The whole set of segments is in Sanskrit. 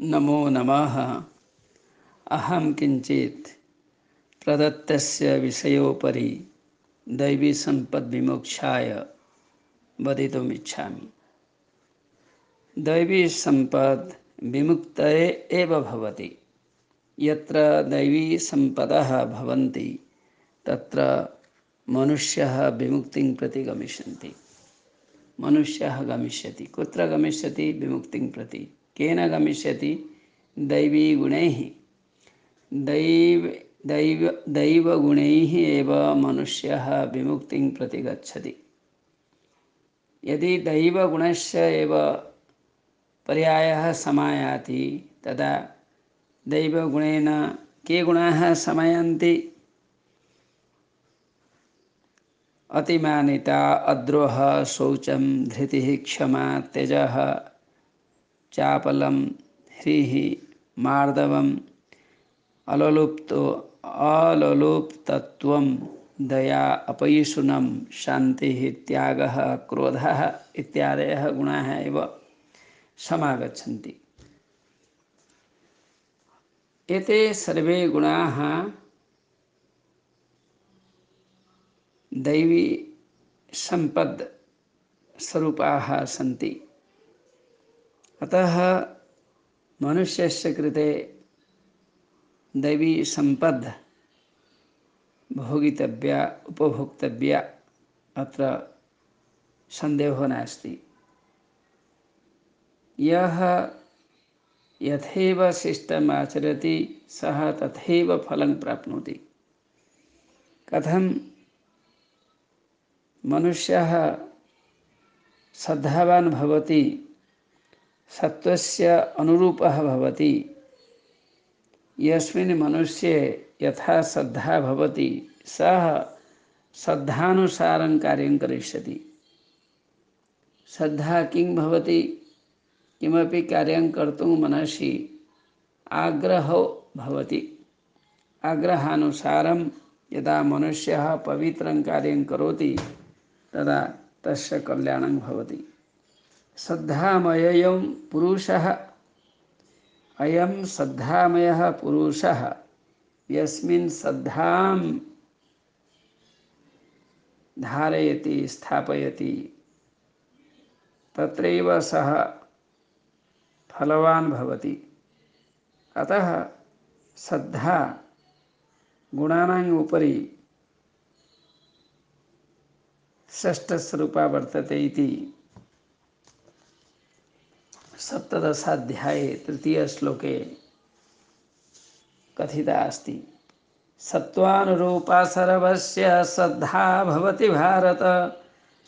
नमो नमः। अहं किञ्चित् प्रदत्तस्य विषयोपरि दैवीसम्पद्विमोक्षाय वदितुम् इच्छामि। दैवीसम्पद् विमुक्तये एव भवति। यत्र दैवीसम्पदः भवन्ति तत्र मनुष्यः विमुक्तिं प्रति गमिष्यन्ति। मनुष्यः गमिष्यति। कुत्र गमिष्यति? विमुक्तिं प्रति। केन गमिष्यति? दैवीगुणैः। दैवगुणैः एव मनुष्यः विमुक्तिं प्रति गच्छति। यदि दैवगुणस्य एव पर्यायः समायाति तदा दैवगुणेन के गुणाः समायान्ति? अतिमानिता, अद्रोहः, शौचं, धृतिः, क्षमा, तेजः, चापलं, ह्रीः, मार्दवम्, अललोप्तत्वं, दया, अपैशुनं, शान्तिः, त्यागः, क्रोधः इत्यादयः गुणाः एव समागच्छन्ति। एते सर्वे गुणाः दैवी सम्पद् स्वरूपाः सन्ति। अतः मनुष्यस्य कृते दैवी सम्पद् भोगितव्या, उपभोक्तव्या, अत्र सन्देहो नास्ति। यः यथैव शिष्टम् आचरति सः तथैव फलं प्राप्नोति। कथं मनुष्यः श्रद्धावान् भवति, सत्त्वस्य अनुरूपः भवति। यस्मिन् मनुष्ये यथा श्रद्धा भवति सः श्रद्धानुसारं कार्यं करिष्यति। श्रद्धा किं भवति? किमपि कार्यं कर्तुं मनसि आग्रहो भवति। आग्रहानुसारं यदा मनुष्यः पवित्रं कार्यं करोति तदा तस्य कल्याणं भवति। श्रद्धामयः पुरुषः, अयं श्रद्धामयः पुरुषः यस्मिन् श्रद्धां धारयति, स्थापयति, तत्रैव सः फलवान् भवति। अतः श्रद्धा गुणानाम् उपरि षष्ठस्वरूपा वर्तते इति सप्तदशाध्याये तृतीयश्लोके कथिता अस्ति। सत्त्वानुरूपा सर्वस्य श्रद्धा भवति भारत।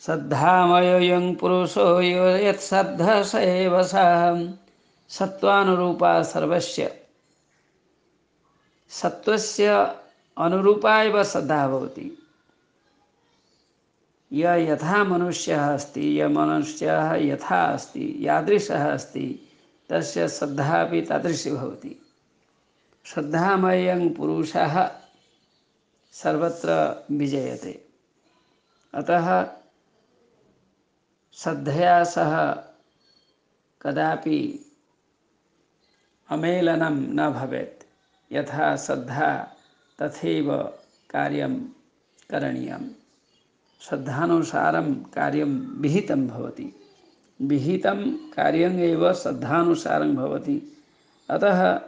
श्रद्धामयोऽयं पुरुषो यो यत्श्रद्धः स एव सः। सत्त्वानुरूपा सर्वस्य, सत्त्वस्य अनुरूपा एव श्रद्धा भवति। यः यथा मनुष्यः अस्ति, यः मनुष्यः यथा अस्ति, यादृशः अस्ति, तस्य श्रद्धा अपि तादृशी भवति। श्रद्धामयः पुरुषः सर्वत्र विजयते। अतः श्रद्धया सह कदापि अमेलनं न भवेत्। यथा श्रद्धा तथैव कार्यं करणीयम्। श्रद्धानुसारं कार्यं विहितं भवति। विहितं कार्यम् एव श्रद्धानुसारं भवति। अतः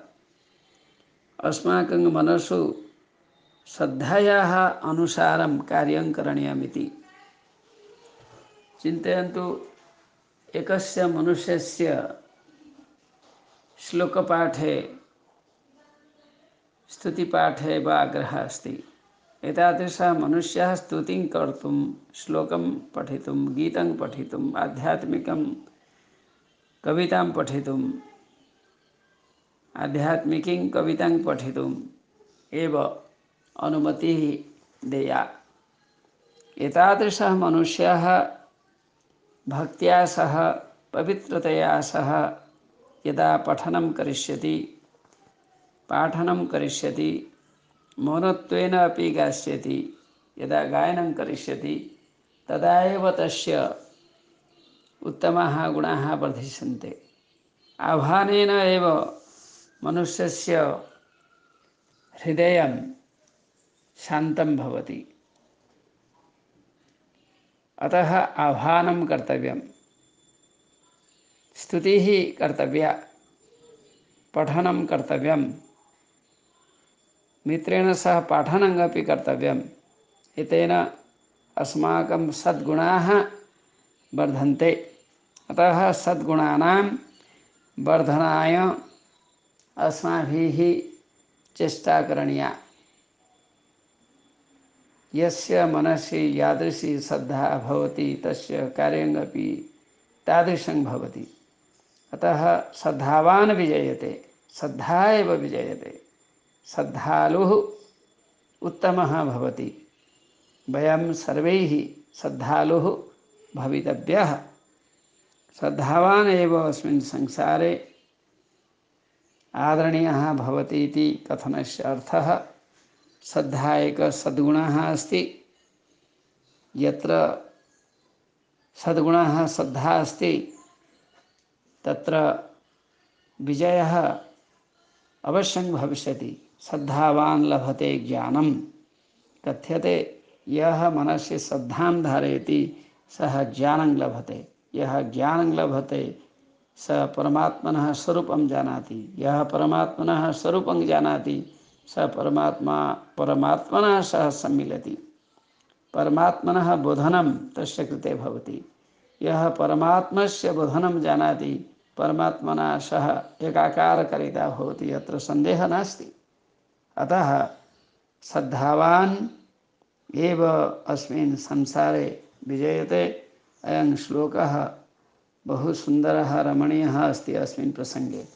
अस्माकं मनसु श्रद्धायाः अनुसारं कार्यं करणीयमिति। चिन्तयन्तु, एकस्य मनुष्यस्य श्लोकपाठे, स्तुतिपाठे वा आग्रहः अस्ति। एतादृशः मनुष्यः स्तुतिं कर्तुं, श्लोकं पठितुं, गीतं पठितुम्, आध्यात्मिकं कवितां पठितुम्, आध्यात्मिकीं कवितां पठितुम् एव अनुमतिः देया। एतादृशः मनुष्यः भक्त्या सह, पवित्रतया सह यदा पठनं करिष्यति, पाठनं करिष्यति, मौनत्वेन अपि गास्यति, यदा गायनं करिष्यति तदा एव तस्य उत्तमाः गुणाः वर्धिष्यन्ते। आह्वानेन एव मनुष्यस्य हृदयं शान्तं भवति। अतः आह्वानं कर्तव्यं, स्तुतिः कर्तव्या, पठनं कर्तव्यं, मित्रेण सह पाठनमपि कर्तव्यम्। एतेन अस्माकं सद्गुणाः वर्धन्ते। अतः सद्गुणानां वर्धनाय अस्माभिः चेष्टा करणीया। यस्य मनसि यादृशी श्रद्धा भवति तस्य कार्यमपि तादृशं भवति। अतः श्रद्धावान् विजयते, श्रद्धा एव विजयते। श्रद्धालुः उत्तमः भवति। वयं सर्वैः श्रद्धालुः भवितव्यः। श्रद्धावान् एव अस्मिन् संसारे आदरणीयः भवति इति कथनस्य अर्थः। श्रद्धा एकः सद्गुणः अस्ति। यत्र सद्गुणः श्रद्धा अस्ति तत्र विजयः अवश्यं भविष्यति। श्रद्धावान् लभते ज्ञानं। कथ्यते यः मनसि श्रद्धां धारयति सः ज्ञानं लभते। यः ज्ञानं लभते स परमात्मनः स्वरूपं जानाति। यः परमात्मनः स्वरूपं जानाति स परमात्मनः सह सम्मिलति। परमात्मनः बोधनं तस्य कृते भवति। यः परमात्मस्य बोधनं जानाति परमात्मना सह एकाकारकारिता भवति, अत्र सन्देहः नास्ति। अतः श्रद्धावान् एव अस्मिन् संसारे विजयते। अयं श्लोकः बहु सुन्दरः रमणीयः अस्ति। अस्मिन् प्रसङ्गे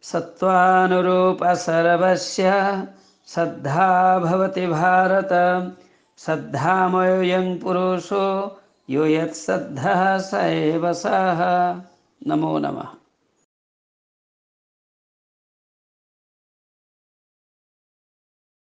सत्त्वानुरूप सर्वस्य श्रद्धा भवति भारत। श्रद्धामयोऽयं पुरुषो यो यत्श्रद्धः स एव सः। नमो नमः।